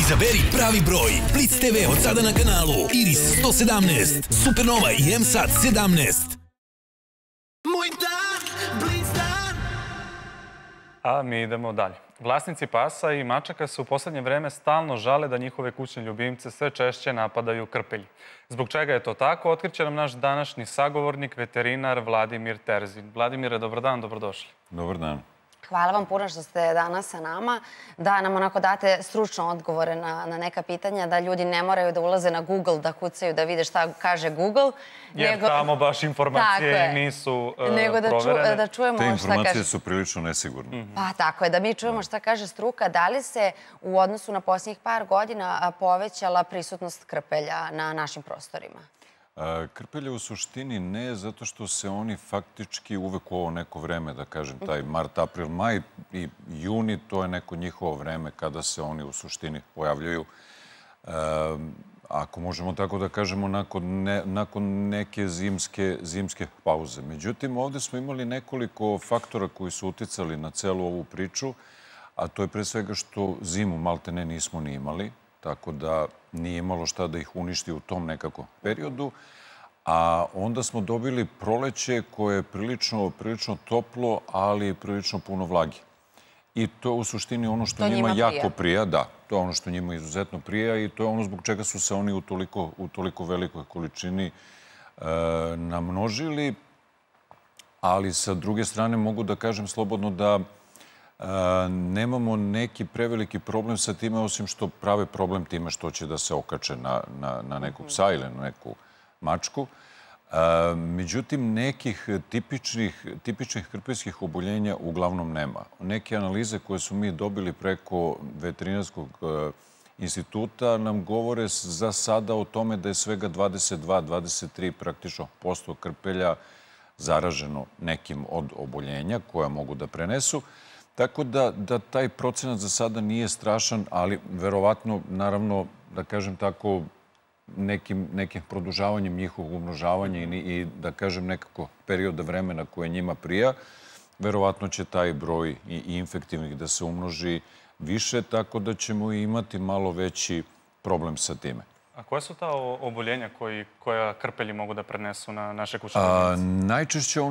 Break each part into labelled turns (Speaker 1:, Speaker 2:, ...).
Speaker 1: Izaberi pravi broj. Blitz TV od sada na kanalu Iris 117, Supernova i M-Sat 17.
Speaker 2: Moj dan, Blitz dan.
Speaker 3: A mi idemo dalje. Vlasnici pasa i mačaka se u poslednje vreme stalno žale da njihove kućne ljubimce sve češće napadaju krpelji. Zbog čega je to tako, otkriće nam naš današnji sagovornik, veterinar Vladimir Terzin. Vladimire, dobar dan, dobrodošli.
Speaker 4: Dobar dan.
Speaker 5: Hvala vam puno što ste danas sa nama, da nam onako date stručno odgovore na neka pitanja, da ljudi ne moraju da ulaze na Google, da kucaju, da vide šta kaže Google.
Speaker 3: Jer tamo baš informacije nisu proverene.
Speaker 5: Nego da čujemo šta
Speaker 4: Te
Speaker 5: kaže...
Speaker 4: informacije su prilično nesigurne.
Speaker 5: Pa tako je, da mi čujemo šta kaže struka. Da li se u odnosu na posljednjih par godina povećala prisutnost krpelja na našim prostorima?
Speaker 4: Krpelje u suštini ne, zato što se oni faktički uvek u ovo neko vreme, da kažem, taj mart, april, maj i juni, to je neko njihovo vreme kada se oni u suštini pojavljaju. Ako možemo tako da kažemo, nakon neke zimske pauze. Međutim, ovde smo imali nekoliko faktora koji su uticali na celu ovu priču, a to je pre svega što zimu malte ne nismo ni imali, tako da nije imalo šta da ih uništi u tom nekako periodu. A onda smo dobili proleće koje je prilično toplo, ali prilično puno vlage. I to je u suštini ono što njima jako prija. Da, to je ono što njima izuzetno prija i to je ono zbog čega su se oni u toliko velikoj količini namnožili. Ali sa druge strane mogu da kažem slobodno da nemamo neki preveliki problem sa time, osim što prave problem time što će da se okače na nekog psa ili na neku mačku. Međutim, nekih tipičnih krpeljskih oboljenja uglavnom nema. Neke analize koje su mi dobili preko veterinarskog instituta nam govore za sada o tome da je svega 22-23 praktično posto krpelja zaraženo nekim od oboljenja koja mogu da prenesu. Tako da taj procenat za sada nije strašan, ali verovatno, naravno, da kažem tako, nekim produžavanjem njihovog umnožavanja i da kažem nekako perioda vremena koje njima prija, verovatno će taj broj i infektivnih da se umnoži više, tako da ćemo imati malo veći problem sa time.
Speaker 3: A koje su ta oboljenja koja krpelji mogu da prenesu na naše kućne ljubimce?
Speaker 4: Najčešće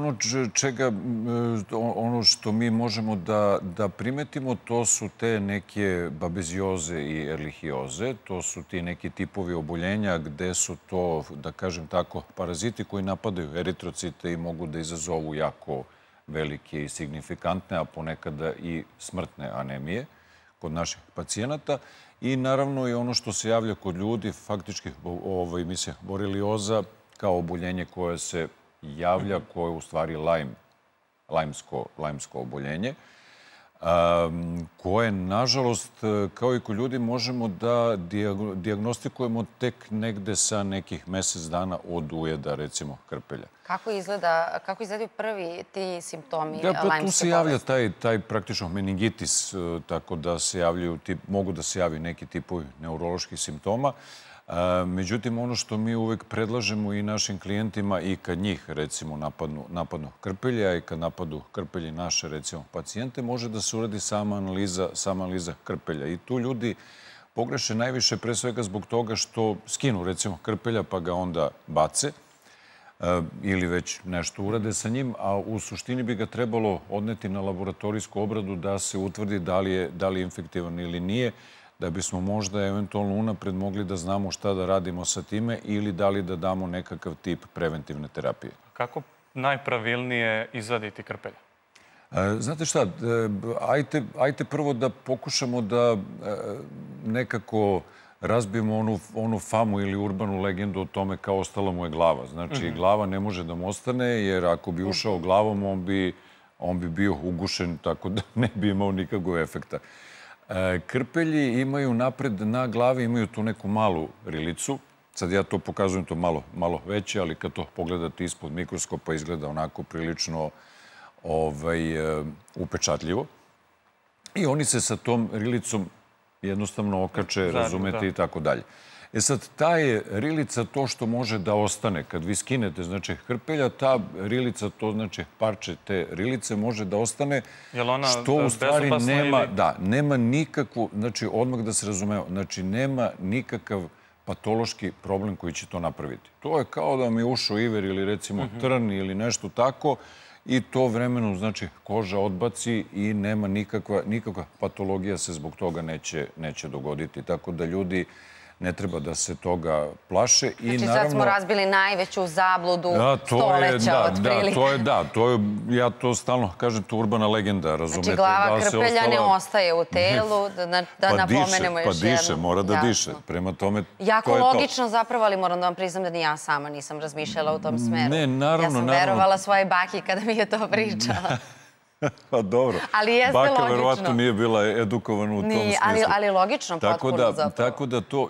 Speaker 4: ono što mi možemo da primetimo, to su te neke babezioze i erlihioze. To su ti neki tipovi oboljenja gde su to, da kažem tako, paraziti koji napadaju eritrocite i mogu da izazovu jako velike i signifikantne, a ponekada i smrtne anemije kod naših pacijenata. I naravno i ono što se javlja kod ljudi, faktički borelioza kao oboljenje koje se javlja, koje je u stvari lajmsko oboljenje, koje, nažalost, kao i kod ljudi, možemo da dijagnostikujemo tek negde sa nekih mesec dana od ujeda, recimo, krpelja.
Speaker 5: Kako izgledaju prvi ti simptomi lajmske bolesti?
Speaker 4: Tu se javlja taj praktično meningitis, tako da se javljaju, mogu da se javi neki tipovi neuroloških simptoma. Međutim, ono što mi uvek predlažemo i našim klijentima i kad njih, recimo, napadnu krpelja i kad napadu krpelji naše, recimo, pacijente, može da se uradi sama analiza krpelja. I tu ljudi pogreše najviše pre svega zbog toga što skinu, recimo, krpelja pa ga onda bace ili već nešto urade sa njim, a u suštini bi ga trebalo odneti na laboratorijsku obradu da se utvrdi da li je infektivan ili nije, da bismo možda eventualno unapred mogli da znamo šta da radimo sa time ili da li da damo nekakav tip preventivne terapije.
Speaker 3: Kako najpravilnije izvaditi krpelja?
Speaker 4: Znate šta, ajte prvo da pokušamo da nekako razbijemo onu famu ili urbanu legendu o tome kao ostala mu je glava. Znači, glava ne može da mu ostane, jer ako bi ušao glavom, on bi bio ugušen, tako da ne bi imao nikakvog efekta. Krpelji imaju napred na glavi, imaju tu neku malu rilicu. Sad ja to pokazujem, to malo veće, ali kad to pogledate ispod mikroskopa izgleda onako prilično upečatljivo. I oni se sa tom rilicom jednostavno okače, razumete, i tako dalje. E sad, ta je rilica to što može da ostane. Kad vi skinete, znači, hrpelja, ta rilica, to znači parče te rilice može da ostane, što u stvari nema nikakvu, znači, odmah da se razumeo, znači, nema nikakav patološki problem koji će to napraviti. To je kao da mi je ušao iver ili recimo trn ili nešto tako i to vremenom, znači, koža odbaci i nema nikakva patologija se zbog toga neće dogoditi. Tako da ljudi ne treba da se toga plaše.
Speaker 5: Znači sad smo razbili najveću zabludu stoleća otprilike.
Speaker 4: Ja to stalno kažem, to je urbana legenda, razumete?
Speaker 5: Znači glava krpelja ne ostaje u telu, da napomenemo još jednom.
Speaker 4: Pa diše, mora da diše. Prema tome,
Speaker 5: jako logično zapravo, ali moram da vam priznam da ni ja sama nisam razmišljala u tom smeru.
Speaker 4: Ne, naravno.
Speaker 5: Ja sam verovala svoje baki kada mi je to pričala.
Speaker 4: Pa dobro.
Speaker 5: Ali jeste logično.
Speaker 4: Baka verovatno nije bila edukovana u tom smislu.
Speaker 5: Ali logično, potpuno zapravo.
Speaker 4: Tako da to,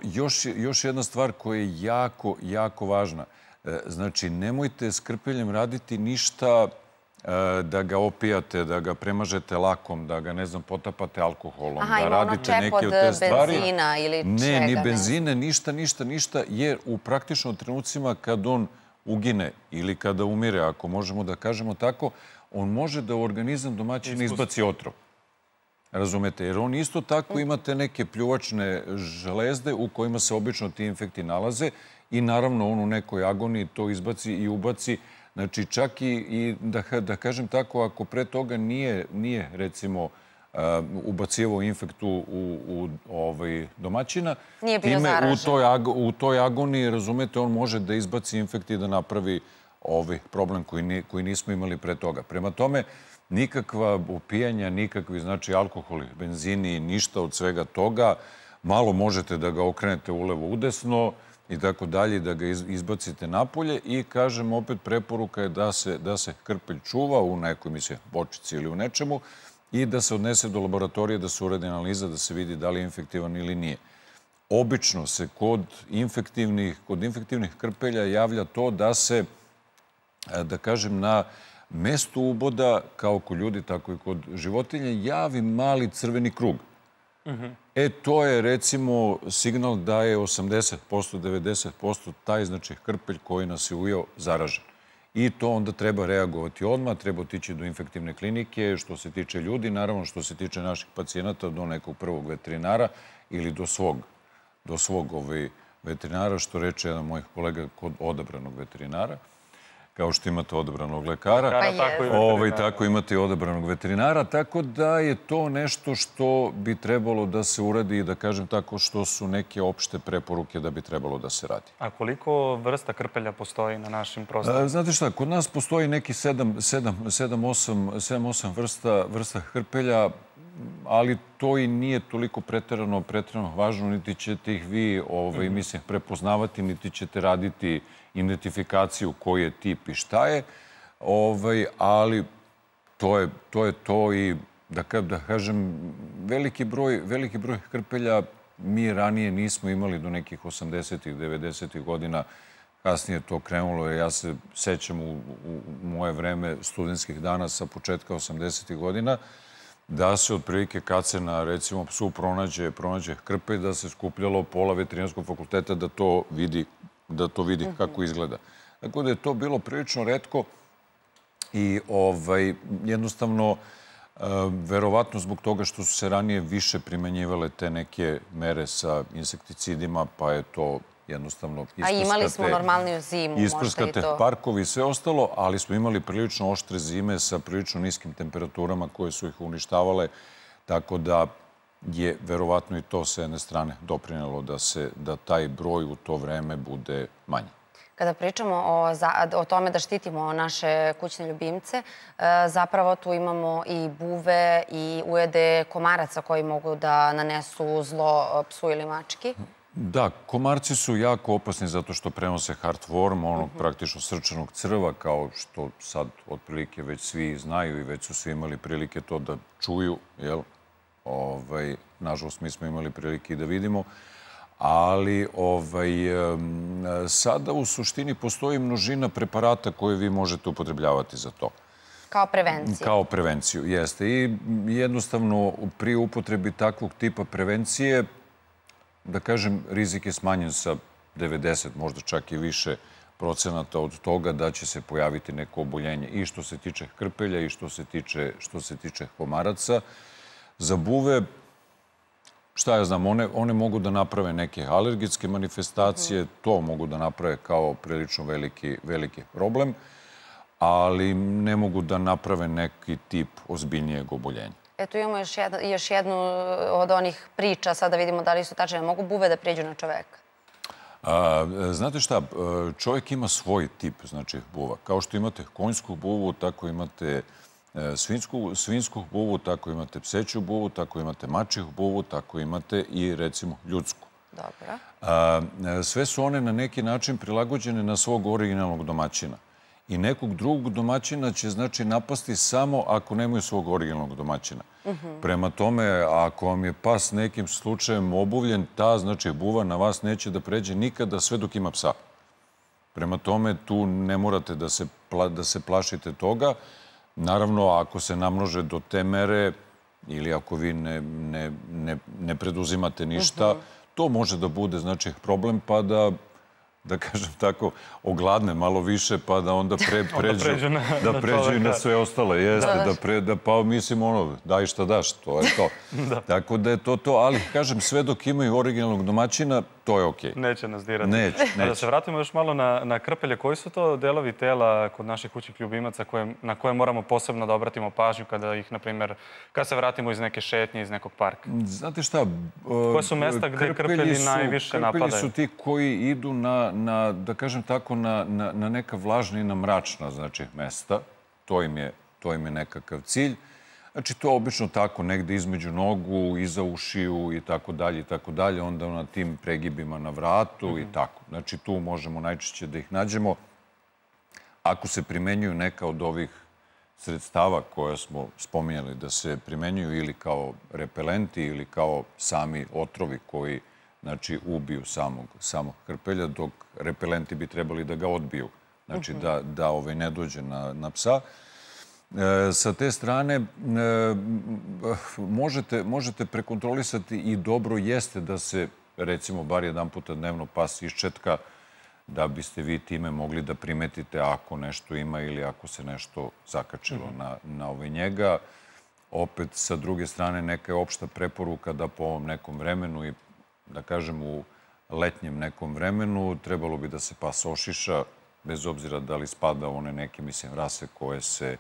Speaker 4: još jedna stvar koja je jako, jako važna. Znači, nemojte s krpeljem raditi ništa da ga opijate, da ga premažete lakom, da ga, ne znam, potapate alkoholom, da radite neke od te stvari.
Speaker 5: Benzina ili čega?
Speaker 4: Ne, ni benzine, ništa, jer u praktično trenucima kad on ugine ili kada umire, ako možemo da kažemo tako, on može da u organizam domaćina izbaci otrov. Razumete? Jer on isto tako imate neke pljuvačne železde u kojima se obično ti infekti nalaze i naravno on u nekoj agoniji to izbaci i ubaci. Znači čak i da kažem tako, ako pre toga nije recimo ubacivao infektu u domaćina, time u toj agoniji, razumete, on može da izbaci infekt i da napravi problem koji nismo imali pre toga. Prema tome, nikakva opijanja, nikakvi, znači, alkoholi, benzini, ništa od svega toga. Malo možete da ga okrenete ulevo udesno i tako dalje, da ga izbacite napolje i, kažem, opet preporuka je da se krpelj čuva u nekoj, mislim, bočici ili u nečemu i da se odnese do laboratorije, da se uradi analiza, da se vidi da li je infektivan ili nije. Obično se kod infektivnih krpelja javlja to da se, da kažem, na mestu uboda, kao kod ljudi, tako i kod životinja, javi mali crveni krug. To je, recimo, signal da je 80%, 90% taj, znači, krpelj koji nas je ujeo zaražen. I to onda treba reagovati odmah, treba otići do infektivne klinike, što se tiče ljudi, naravno što se tiče naših pacijenata, do nekog prvog veterinara ili do svog veterinara, što reče jedan mojih kolega, kod odabranog veterinara. Kao što imate odabranog lekara, tako imate i odabranog veterinara, tako da je to nešto što bi trebalo da se uradi i da kažem tako što su neke opšte preporuke da bi trebalo da se radi.
Speaker 3: A koliko vrsta krpelja postoji na našim prostorima?
Speaker 4: Znate šta, kod nas postoji neki 7-8 vrsta krpelja, ali to i nije toliko preterano važno, niti ćete ih vi, mislim, prepoznavati, niti ćete raditi identifikaciju koji je tip i šta je, ali to je to i, da kažem, veliki broj krpelja mi ranije nismo imali do nekih 80-ih, 90-ih godina. Kasnije to krenulo, ja se sećam u moje vreme studentskih dana sa početka 80-ih godina, da se otprilike kad se na, recimo, psu pronađe krpelj, da se skupljalo pola veterinarskog fakulteta da to vidi kako izgleda. Tako da je to bilo prilično retko i jednostavno, verovatno zbog toga što su se ranije više primenjivale te neke mere sa insekticidima, pa je to jednostavno isprskate... A
Speaker 5: imali smo normalniju zimu, možda i to.
Speaker 4: Isprskate parkovi i sve ostalo, ali smo imali prilično oštre zime sa prilično niskim temperaturama koje su ih uništavale, tako da je verovatno i to s jedne strane doprinelo da taj broj u to vreme bude manji.
Speaker 5: Kada pričamo o tome da štitimo naše kućne ljubimce, zapravo tu imamo i buve i ujede komaraca koji mogu da nanesu zlo psu ili mački.
Speaker 4: Da, komarci su jako opasni zato što prenose heartworm, onog praktično srčanog crva, kao što sad otprilike već svi znaju i već su svi imali prilike to da čuju, jel? Nažalost, mi smo imali prilike i da vidimo, ali sada u suštini postoji množina preparata koje vi možete upotrebljavati za to.
Speaker 5: Kao prevenciju.
Speaker 4: Kao prevenciju, jeste. I jednostavno pri upotrebi takvog tipa prevencije, da kažem, rizik je smanjen sa 90, možda čak i više procenata od toga da će se pojaviti neko oboljenje i što se tiče krpelja i što se tiče komaraca. Za buve, šta ja znam, one mogu da naprave neke alergijske manifestacije, to mogu da naprave kao prilično veliki problem, ali ne mogu da naprave neki tip ozbiljnijeg oboljenja.
Speaker 5: Eto, imamo još jednu od onih priča, sada vidimo da li su tačne. Mogu buve da prijeđu na čoveka?
Speaker 4: Znate šta, čovjek ima svoj tip, znači, buva. Kao što imate konjsku buvu, tako imate svinsku buvu, tako imate pseću buvu, tako imate mačju buvu, tako imate i, recimo, ljudsku.
Speaker 5: Dobro.
Speaker 4: Sve su one na neki način prilagođene na svog originalnog domaćina. I nekog drugog domaćina će, znači, napasti samo ako nemaju svog originalnog domaćina. Prema tome, ako vam je pas nekim slučajem obuvljen, ta, znači, buva na vas neće da pređe nikada sve dok ima psa. Prema tome, tu ne morate da se plašite toga. Naravno, ako se namnože do te mere ili ako vi ne preduzimate ništa, to može da bude, znači, problem, pa da kažem tako, ogladne malo više, pa da onda pređu i na sve ostale. Jeste, pa mislim, daj šta daš, to je to. Tako da je to, ali kažem, sve dok imaju originalnog domaćina, to je okej.
Speaker 3: Neće nas dirati.
Speaker 4: Neće.
Speaker 3: Da se vratimo još malo na krpelje. Koji su to delovi tela kod naših kućnih ljubimaca na koje moramo posebno da obratimo pažnju kada ih, na primjer, kada se vratimo iz neke šetnje, iz nekog parka?
Speaker 4: Znate šta?
Speaker 3: Koje su mesta gde krpelji najviše napadaju?
Speaker 4: Krpelji su ti koji idu na, da kažem tako, na neka vlažna i na mračna, znači, mesta. To im je nekakav cilj. Znači, to je obično tako, negde između nogu, iza ušiju i tako dalje, onda na tim pregibima na vratu i tako. Znači, tu možemo najčešće da ih nađemo. Ako se primenjuju neka od ovih sredstava koje smo spominjali da se primenjuju ili kao repelenti ili kao sami otrovi koji, znači, ubiju samog krpelja, dok repelenti bi trebali da ga odbiju, znači da ne dođe na psa. Sa te strane možete prekontrolisati i dobro jeste da se, recimo, bar jedan puta dnevno pas iščetka, da biste vi time mogli da primetite ako nešto ima ili ako se nešto zakačilo na njega. Opet, sa druge strane, neka je opšta preporuka da po ovom nekom vremenu i, da kažem, u letnjem nekom vremenu trebalo bi da se pas ošiša, bez obzira da li spada u one neke, mislim, rase koje se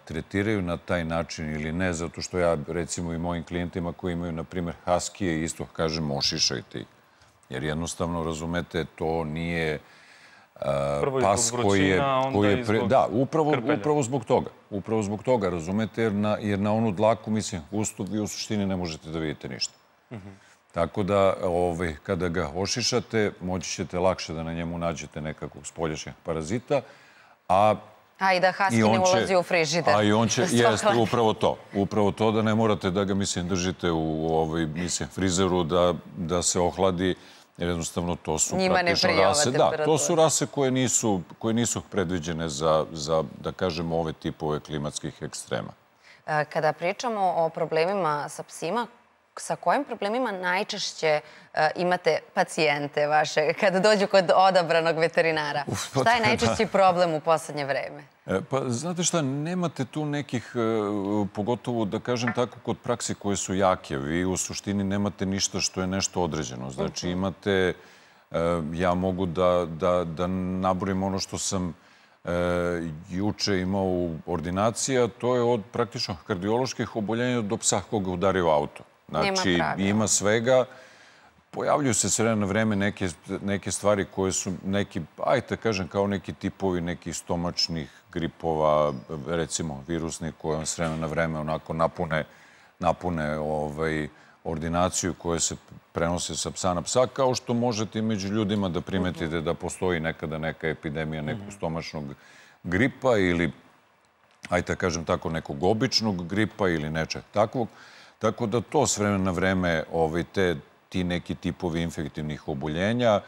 Speaker 4: tretiraju na taj način ili ne, zato što ja, recimo, i mojim klijentima koji imaju, na primjer, haskije, isto kažem, ošišajte ih. Jer jednostavno, razumete, to nije pas koji je... Da, upravo zbog toga. Upravo zbog toga, razumete, jer na onu dlaku, mislim, gustu, vi u suštini ne možete da vidite ništa. Tako da, kada ga ošišate, moći ćete lakše da na njemu nađete nekakvog spoljašnjeg parazita,
Speaker 5: A i da haski ne ulazi u frižider.
Speaker 4: A i on će, jeste, upravo to da ne morate da ga, mislim, držite u frizeru da se ohladi, jer jednostavno to su praktično rase. Da, to su rase koje nisu predviđene za, da kažemo, ove tipove klimatskih ekstrema.
Speaker 5: Kada pričamo o problemima sa psima, sa kojim problemima najčešće imate pacijente vaše kada dođu kod odabranog veterinara? Šta je najčešći problem u poslednje vreme?
Speaker 4: Pa, znate šta, nemate tu nekih, pogotovo, da kažem tako, kod praksi koje su jake. Vi u suštini nemate ništa što je nešto određeno. Znači, imate, ja mogu da nabrojim ono što sam juče imao u ordinaciji, a to je od praktično kardioloških oboljenja do psa koga udario auto. Znači, ima svega. Pojavljuju se s vremena na vreme neke stvari koje su neki, ajte kažem, kao neki tipovi nekih stomačnih gripova, recimo virusnih, koje vam s vremena na vreme onako napune ordinaciju koje se prenose sa psa na psa, kao što možete i među ljudima da primetite da postoji nekada neka epidemija nekog stomačnog gripa ili, ajte kažem tako, nekog običnog gripa ili nečeg takvog. Tako da to s vremena na vreme, ti neki tipovi infektivnih oboljenja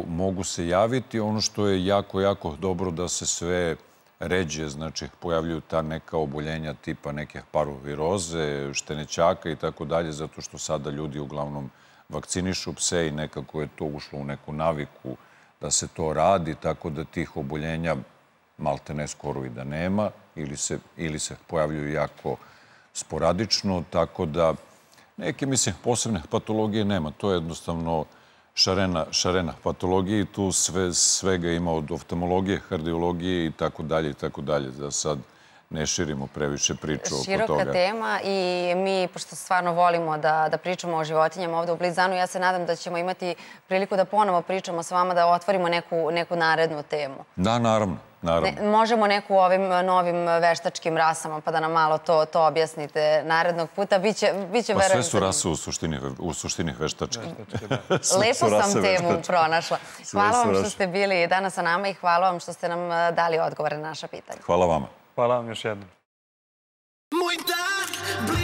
Speaker 4: mogu se javiti. Ono što je jako, jako dobro da se sve ređe, znači pojavljuju ta neka oboljenja tipa neke paroviroze, štenećaka i tako dalje, zato što sada ljudi uglavnom vakcinišu pse i nekako je to ušlo u neku naviku da se to radi, tako da tih oboljenja malte ne skoro i da nema ili se pojavljuju jako sporadično, tako da neke, mislim, posebne patologije nema. To je jednostavno šarena patologije i tu svega ima od oftalmologije, kardiologije i tako dalje, da sad ne širimo previše priču oko toga.
Speaker 5: Široka tema i mi, pošto stvarno volimo da pričamo o životinjama ovde u Blic-Danu, ja se nadam da ćemo imati priliku da ponovo pričamo s vama, da otvorimo neku narednu temu.
Speaker 4: Da, naravno.
Speaker 5: Možemo neku o ovim novim veštačkim rasama, pa da nam malo to objasnite narednog puta. Biće,
Speaker 4: pa sve su rase u suštini veštačke.
Speaker 5: Lepo sam temu pronašla. Hvala vam što ste bili danas sa nama i hvala vam što ste nam dali odgovore na naša pitanja.
Speaker 4: Hvala vama.
Speaker 3: Hvala vam još jednom.
Speaker 2: Moj dan